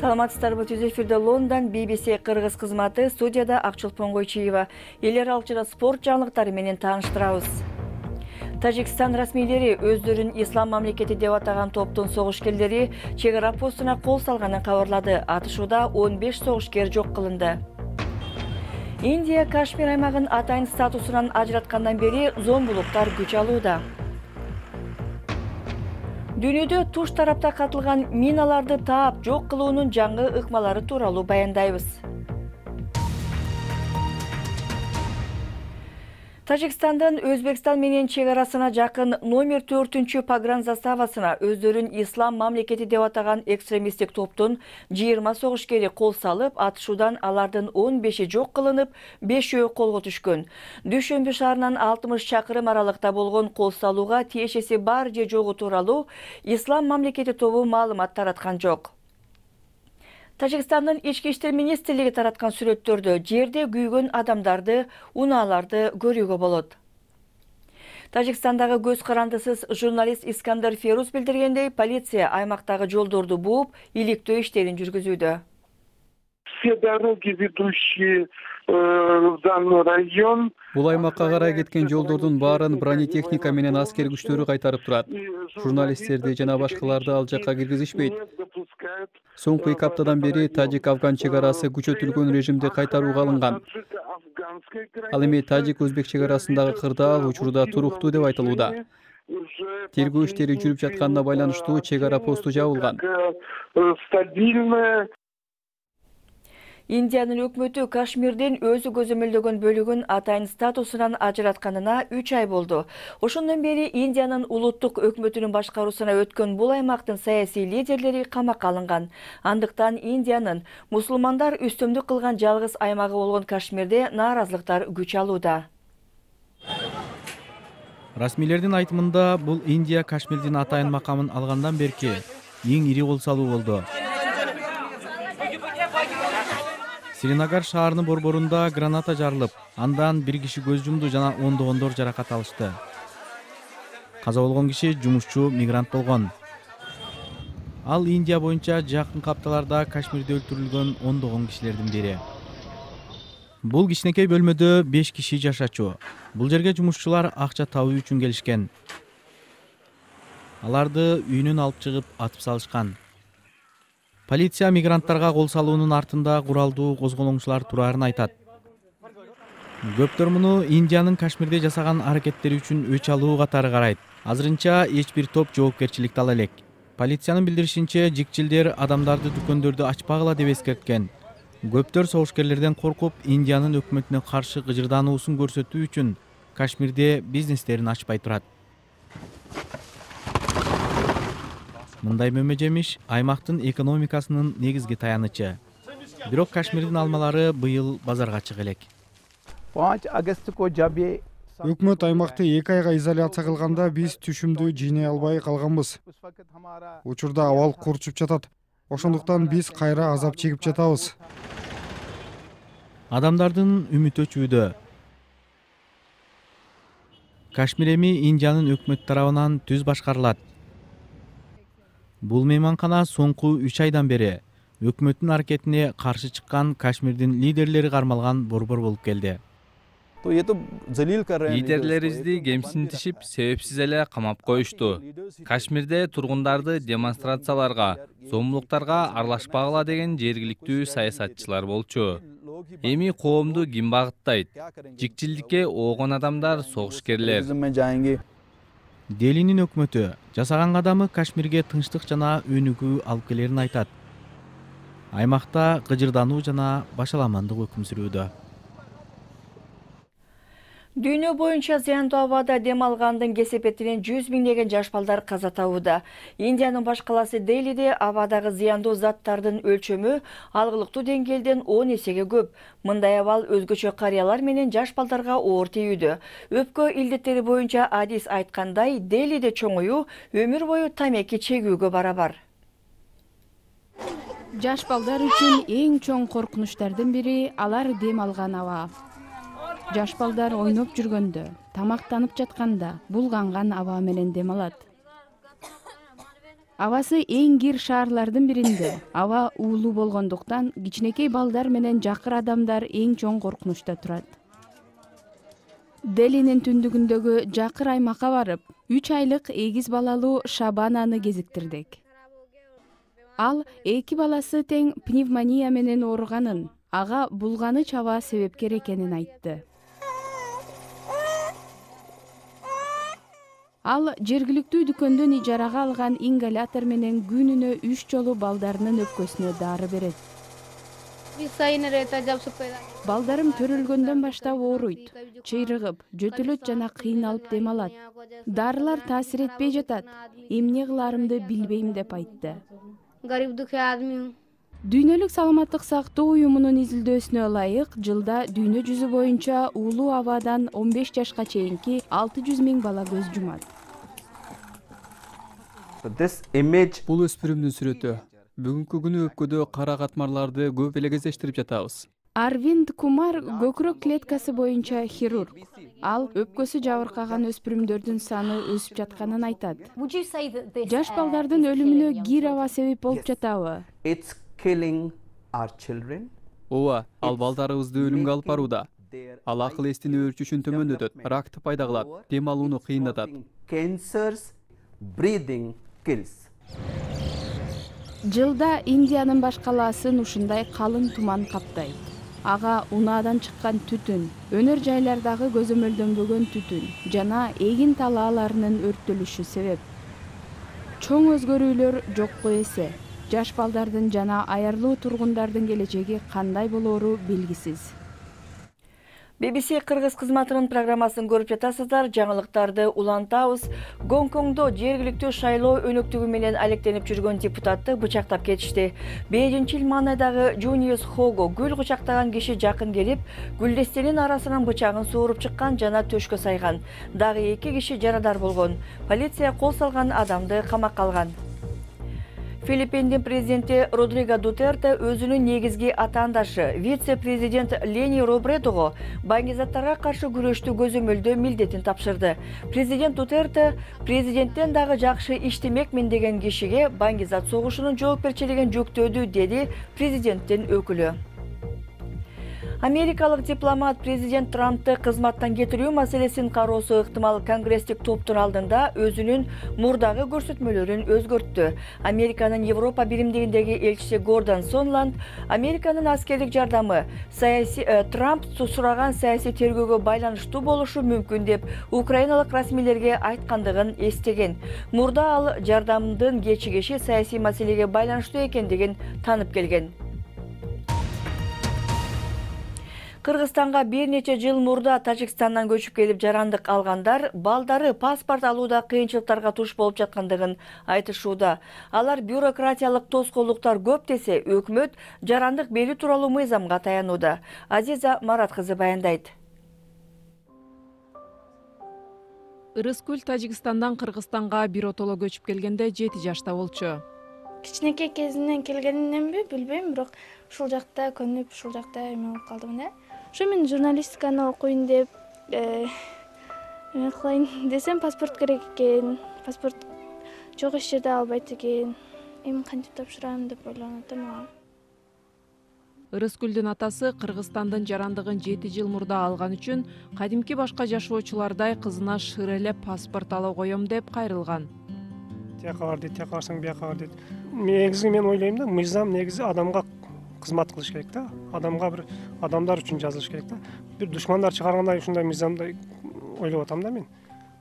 Саламатсыздарбы, түз эфирде Лондон BBC кыргыз кызматы, студияда Акчолпон Койчиева. Элер алчыда спорт жаңылыктары менен тааныштырабыз. Тажикстан расмийлери өздөрүн ислам мамлекети деп атаган топтун согушкерлери чек ара постуна кол салганын кабарлады. Атышууда 15 согушкер жок кылынды. Индия Кашмир аймагын атайын статусунан ажыраткандан бери зомбулуктар күч алууда. Дүйнөдө туш тарапта катылган миналарды таап жок кылуунун жаңы ыкмалары тууралуу баяндайбыз. Тажикстандын Өзбекстан менен чек арасына жакын номер 4 погран заставасына өздөрүн ислам мамлекети деп атаган экстремисттик топтун 20 согушкери кол салып, атышуудан алардын 15-и жок кылынып, 5-өө колго түшкөн. Дүйшөмбү шаарынан 60 чакырым аралыкта болгон кол салууга тиешеси бар же жогу тууралуу ислам мамлекети тобу маалымат тараткан жок. Тажикстандын ички иштер министрлиги тараткан сүрөттөрдө жерде күйгөн адамдарды, унааларды көрүүгө болот. Тажикстандагы көз карандысыз журналист Искандер Феруз билдиргендей, полиция аймактагы жолдорду бууп, иликтөө иштерин жүргүзүүдө. Все дороги, ведущие в данный район. Бул аймакка карай кеткен жолдордун баарын бронетехника менен аскер күчтөрү кайтарып турат. Журналисттерди жана башкаларды ал жакка киргизишпейт. Соңку 2 аптадан бери тажик-афган чек арасы күчөтүлгөн режимде кайтарууга алынган. Ал эми тажик-өзбек чек арасындагы кырдаал учурда туруктуу деп айтылууда. Тергөө иштери жүрүп жатканына байланыштуу чек ара посту жабылган. Индиянын өкмөтү Кашмирдин өзү көзөмөлдөгөн бөлүгүн атайын статусунан ажыратканына 3 ай болду. Ошондон бери Индиянын улуттук өкмөтүнүн башкаруусуна өткөн бул аймактын саясий лидерлери камакка алынган. Андыктан Индиянын мусулмандар үстөмдүк кылган жалгыз аймагы болгон Кашмирде нааразылыктар күч алууда. Расмийлердин айтымында, бул Индия Кашмирдин атайын макамын алгандан берки эң ири кол салуу болду. Сиринагар шаарынын борборунда граната жарылып, андан бир киши көз жумду жана ондогондор жаракат алышты. Каза болгон киши жумушчу мигрант болгон. Ал Индия боюнча жакын капталарда Кашмирде өлтүрүлгөн ондогон кишилердин бири. Бул кичинекей бөлмөдө 5 киши жашачу. Бул жерге жумушчулар акча табуу үчүн келишкен. Аларды үйүнөн алып чыгып атып салышкан. Полиция мигранттарга кол салуунун артында куралдуу козголоңчулар турарын айтат. Көптөр муну Индиянын Кашмирде жасаган аракеттери үчүн өч алуу катары карайт. Азырынча эч бир топ жоопкерчиликти ала элек. Полициянын билдиришинче, жикчилдер адамдарды дүкөндөрдү ачпагыла деп эскерткен. Көптөр согушкерлерден коркуп, Индиянын өкмөтүнө каршы кыжырдануусун көрсөтүү үчүн Кашмирде бизнестерин ачпай турат. Мындай мөмөжемиш аймактын экономикасынын негизги таянычы. Бирок Кашмирдин алмалары быйыл базарга чыга элек. Өкмөт аймакты 2 айга изоляция кылганда биз түшүмдү жыйнай албай калганбыз. Учурда абал курчуп жатат. Ошондуктан биз кайра азап чегип жатабыз. Адамдардын үмүтү өчүүдө. Кашмир эми Индиянын өкмөт тарабынан түз башкарылат. Бул мейманкана соңку 3 айдан бери өкмөттүн аракетине каршы чыккан Кашмирдин лидерлери кармалган борбор болуп келди. Лидерлерибизди кемсинтишип, себепсиз эле камап коюшту. Кашмирде тургундарды демонстрацияларга, зомбулуктарга аралашпагыла деген жергиликтүү саясатчылар болчу. Эми коомду ким багыттайт? Жикчилдикке оогон адамдар, согушкерлер. Делинин өкмөтү жасаган кадамы Кашмирге тынчтык жана өнүгүү алып келерин айтат. Аймакта кыжырдануу жана башаламандык өкүм сүрүүдө. Дүйнө боюнча зыяндуу абада дем алгандын кесепетинен 100 миңдеген жаш балдар каза табууда. Индиянын баш каласы Делиде абадагы зыяндуу заттардын өлчөмү алгылыктуу деңгээлден 10 эсеге көп. Мындай абал өзгөчө карыялар менен жаш балдарга оор тийүүдө. Өпкө илдеттери боюнча адис айткандай, Делиде чоңуюу өмүр бою тамеки чегүүгө барабар. Жаш балдар үчүн эң чоң коркунучтардын бири алар дем алган аба. Жаш балдар ойноп жүргөндө, тамактанып жатканда булганган аба менен дем алат. Абасы эң кир шаарлардын биринде. Аба уулуу болгондуктан кичинекей балдар менен жакыр адамдар эң чоң коркунучта турат. Делинин түндүгүндөгү жакыр аймакка барып, 3 айлык эгиз балалуу Шабананы кезиктирдик. Ал 2 баласы тең пневмония менен ооруганын, ага булганыч аба себепкер экенин айтты. Ал жергиликтүү дүкөндөн ижарага алган ингалятор менен күнүнө 3 жолу балдарынын өпкөсүнө дары берет. Балдарым төрөлгөндөн баштап ооруйт, чыйрыгып, жөтөлөт жана кыйналып дем алат. Дарылар таасир этпей жатат. Эмне кыларымды билбейм деп айтты. Дүйнөлүк саламаттык сактоо уюмунун изилдөөсүнө ылайык, жылда дүйнө жүзү боюнча уулуу абадан 15 жашка чейинки 600 000 бала көз жумат. Бул өспүрүмдүн сүрөтү. Бүгүнкү күнү өпкөдө кара катмарларды көп эле кездештирип жатабыз. Арвинд Кумар көкүрөк клеткасы боюнча хирург. Ал өпкөсү жабыркаган өспүрүмдөрдүн саны өсүп жатканын айтат. Жаш балдардын өлүмүнө кир аба себеп болуп жатабы? Ооба, ал балдарыбызды өлүмгө алып барууда. Ал акыл эстин өөрчүшүн төмөндөтөт, ракты пайда кылат, дем алууну кыйындатат. Жылда Индиянын баш калаасын ушундай калың туман каптайт. Ага унаадан чыккан түтүн, өнөр жайлардагы көзөмөлдөнбөгөн түтүн жана эгин талааларынын өрттөлүшү себеп. Чоң өзгөрүүлөр жокко эсе. Жаш балдардын жана аярлуу тургундардын келечеги кандай болоору белгисиз. BBC Кыргыз кызматынын программасын көрүп жатасыздар. Жаңылыктарды улантабыз. Гонконгдо жергиликтүү шайлоо өнөктүгү менен алектенип жүргөн депутатты бычактап кетишти. Бейжинчил маанайдагы Жуниус Хого гүл кучактаган киши жакын келип, гүлдестенин арасынан бычагын сууруп чыккан жана төшкө сайган. Дагы 2 киши жарадар болгон. Полиция кол салган адамды камакка алган. Филиппиндин президенти Родриго Дутерте өзүнүн негизги атаандашы вице-президент Лени Робредого баңгизаттарга каршы күрөштү көзөмөлдөө милдетин тапшырды. Президент Дутерте президенттен дагы жакшы иштемекмин деген кишиге баңгизат согушунун жоопкерчилигин жүктөдү, деди президенттин өкүлү. Америкалык дипломат президент Трампты кызматтан кетирүү маселесин кароосу ыктымал конгресстик топтун алдында өзүнүн мурдагы көрсөтмөлөрүн өзгөрттү. Американын Европа биримдигиндеги элчиси Гордон Сонланд Американын аскерлик жардамы Трамп сураган саясий тергөөгө байланыштуу болушу мүмкүн деп украиналык расмийлерге айткандыгын эстеген. Мурда ал жардамдын кечигиши саясий маселеге байланыштуу экендигин танып келген. Кыргызстанга бир нече жыл мурда Тажикстандан көчүп келип жарандык алгандар балдары паспорт алууда кыйынчылыктарга туш болуп жаткандыгын айтышууда. Алар бюрократиялык тоскоолдуктар көп десе, өкмөт жарандык берүү тууралуу мыйзамга таянууда. Азиза Марат кызы баяндайт. Ырыскүл Тажикстандан Кыргызстанга биротоло көчүп келгенде 7 жашта болчу. Кичинекей кезинен келгениненби билбейм, бирок ушул жакта көнүп, ушул жакта эме болуп калдым. Ошо мен журналистиканы окуйн деп, эме кылайын десем, паспорт керек экен. Паспорт жок эч жерде албайт экен. Эми кантип тапшырам деп ойлонуп атам. Ырыскүлдүн атасы Кыргызстандын жарандыгын 7 жыл мурда алган үчүн кадимки башка жашоочулардай кызына шырелеп паспорт ала коем деп кайрылган. Тияка бар дейт, тияка барсаң бияка бар дейт. Негизи мен ойлойм да, мыйзам негизи адамга кызмат кылыш керек да. Адамдар үчүн жазылыш керек да. Бир душмандар чыгаргандай ушундай мыйзамды ойлоп атам да мен.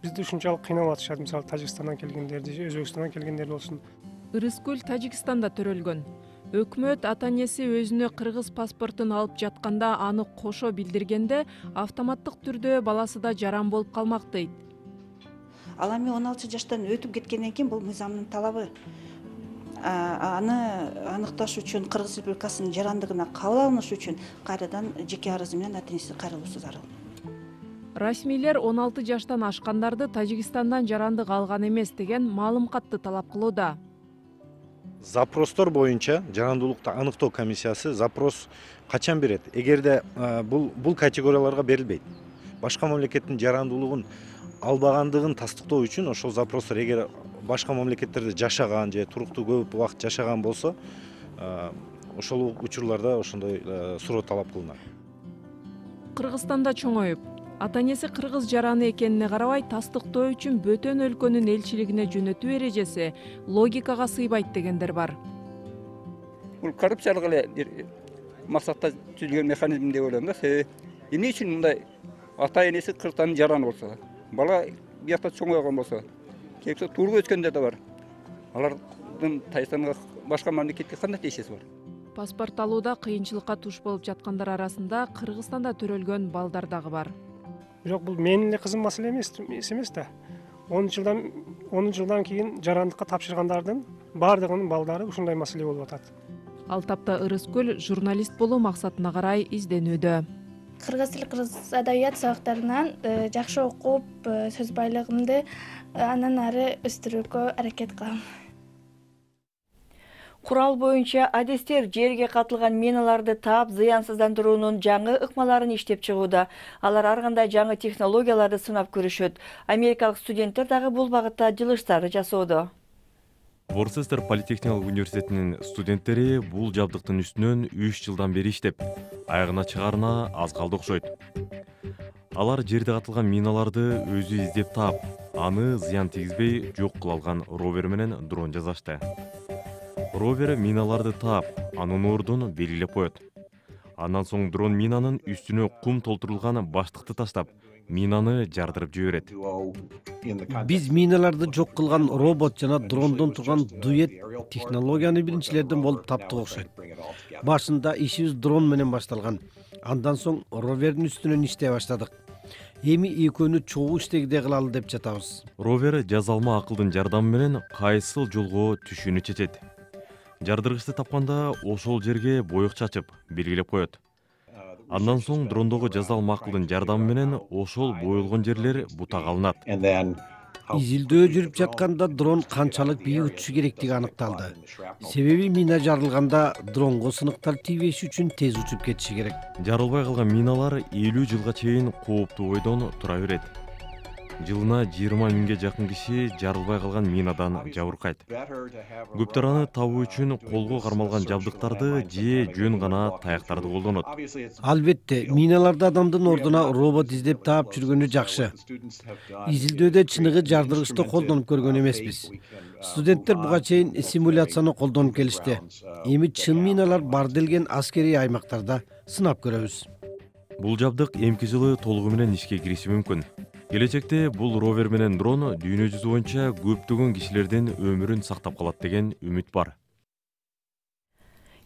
Бизди ушунчалык кыйнап атышат, мисалы Тажикстандан келгендерди, Өзбекстандан келгендер болсун. Ырыскүл Тажикстанда төрөлгөн. Өкмөт ата-энеси өзүнө кыргыз паспортун алып жатканда аны кошо билдиргенде автоматтык түрдө баласы да жаран болуп калмак дейт. Ал эми 16 жаштан өтүп кеткенден кийин бул мыйзамдын талабы. Аны аныкташ үчүн Кыргыз Республикасынын жарандыгына кабыл алыныш үчүн кайрадан жеке арызы менен ата-энеси кайрылуусу зарыл. Расмийлер 16 жаштан ашкандарды Тажикстандан жарандык алган эмес деген маалым катты талап кылууда. Запростор боюнча жарандуулукту аныктоо комиссиясы запрос качан берет? Эгерде бул категорияларга берилбейт. Башка мамлекеттин жарандуулугун албагандыгын тастыктоо үчүн ошол запростор эгер башка мамлекеттерде жашаган же туруктуу көп убакыт жашаган болсо ошол учурларда ошондой суроо талап кылынат. Кыргызстанда чоңоюп, ата энеси кыргыз жараны экенине карабай тастыктоо үчүн бөтөн өлкөнүн элчилигине жөнөтүү эрежеси логикага сыйбайт дегендер бар. Бул коррупциялык эле бир максатта түзүлгөн механизм деп ойлойм да. Себеби эмне үчүн мындай ата энеси Кыргызстандын жараны болсо, бала биякта чоңойгон болсо, келсе тууруп өткөндөр да бар. Алардын Тайстанга башка мамлекетке кандай тиешеси бар? Паспорт алууда кыйынчылыкка туш болуп жаткандар арасында Кыргызстанда төрөлгөн балдар дагы бар. Бирок бул менин эле кызым маселе эмес да. 10 жылдан кийин жарандыкка тапшыргандардын баардыгынын балдары ушундай маселе болуп атат. Ал тапта Ырыскүл журналист болуу максатына карай изденүүдө. Кыргыз тил, кыргыз адабият сабактарынан жакшы окуп, сөз байлыгымды андан ары өстүрүүгө аракет кылам. Курал боюнча адистер жерге катылган миналарды таап зыянсыздандыруунун жаңы ыкмаларын иштеп чыгууда. Алар ар кандай жаңы технологияларды сынап көрүшөт. Америкалык студенттер дагы бул багытта жылыштар жасоодо. Ворцестер политехникалык университетинин студенттери бул жабдыктын үстүнөн 3 жылдан бери иштеп, аягына чыгарына аз калды окшойт. Алар жерде катылган миналарды өзү издеп таап, аны зыян тийгизбей жок кыла алган ровер менен дрон жасашты. Ровер миналарды таап, анын ордун белгилеп коет. Андан соң дрон минанын үстүнө кум толтурулган баштыкты таштап, минаны жардырып жиберет. Биз миналарды жок кылган робот жана дрондон турган дуэт технологияны биринчилерден болуп таптык окшойт. Башында ишибиз дрон менен башталган. Андан соң ровердин үстүнөн иштей баштадык. Эми экөөнү чогуу иштегидей кылалы деп жатабыз. Ровер жазалма акылдын жардамы менен кайсыл жолго түшүүнү чечет. Жардыргычты тапканда ошол жерге боек чачып, белгилеп коет. Андан соң дрондогу жазалма акылдын жардамы менен ошол боелгон жерлер бутага алынат. Изилдөө жүрүп жатканда дрон канчалык бийик учушу керектиги аныкталды. Себеби мина жарылганда дронго сыныктар тийбеш үчүн тез учуп кетиши керек. Жарылбай калган миналар 50 жылга чейин кооптуу бойдон тура берет. Жылына 20 миңге жакын киши жарылбай калган минадан жабыркайт. Көптөр аны табуу үчүн колго кармалган жабдыктарды же жөн гана таяктарды колдонот. Албетте, миналарды адамдын ордуна робот издеп таап жүргөнү жакшы. Изилдөөдө чыныгы жардыргычты колдонуп көргөн эмеспиз. Студенттер буга чейин симуляцияны колдонуп келишти. Эми чын миналар бар делген аскерий аймактарда сынап көрөбүз. Бул жабдык эмки жылы толугу менен ишке кириши мүмкүн. Келечекте бул ровер менен дрон дүйнө жүзү боюнча көптөгөн кишилердин өмүрүн сактап калат деген үмүт бар.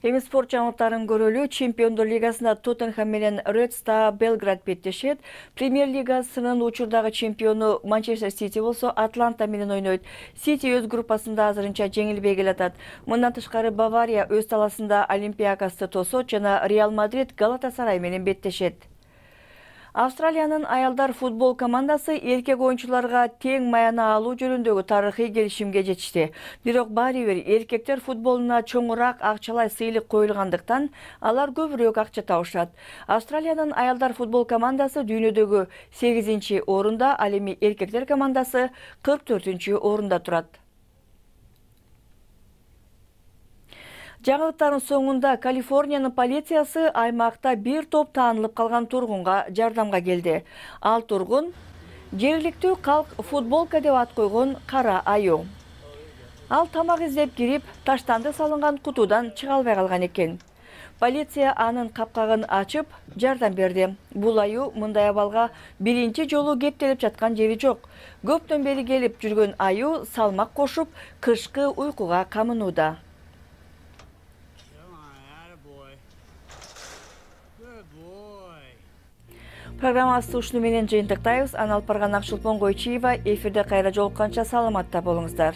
Эми спорт жаңылыктарын көрөлү. Чемпиондор лигасында Тоттенхэм менен Ред Стар Белград беттешет. Премьер лигасынын учурдагы чемпиону Манчестер Сити болсо Атланта менен ойнойт. Сити өз группасында азырынча жеңилбей келатат. Мындан тышкары Бавария өз таласында Олимпиакосты тосот жана Реал Мадрид Галатасарай менен беттешет. Австралиянын аялдар футбол командасы эркек оюнчуларга тең маяна алуу жөнүндөгү тарыхый келишимге жетишти. Бирок баары бир эркектер футболуна чоңураак акчалай сыйлык коюлгандыктан алар көбүрөөк акча табышат. Австралиянын аялдар футбол командасы дүйнөдөгү 8-чи орунда, ал эми эркектер командасы 44-чү орунда турат. Жаңылыктардын соңунда Калифорниянын полициясы аймакта бир топ таанылып калган тургунга жардамга келди. Ал тургун жергиликтүү калк футболка деп ат койгон кара аю. Ал тамак издеп кирип, таштанды салынган кутудан чыга албай калган экен. Полиция анын капкагын ачып, жардам берди. Бул аю мындай абалга биринчи жолу кептелип жаткан жери жок. Көптөн бери келип жүргөн аю салмак кошуп, кышкы уйкуга камынууда. Программасы ушуну менен жыйынтыктайбыз. Аналпарган Акчылпон Койчиева эфирде кайра жолукканча саламатта болуңуздар.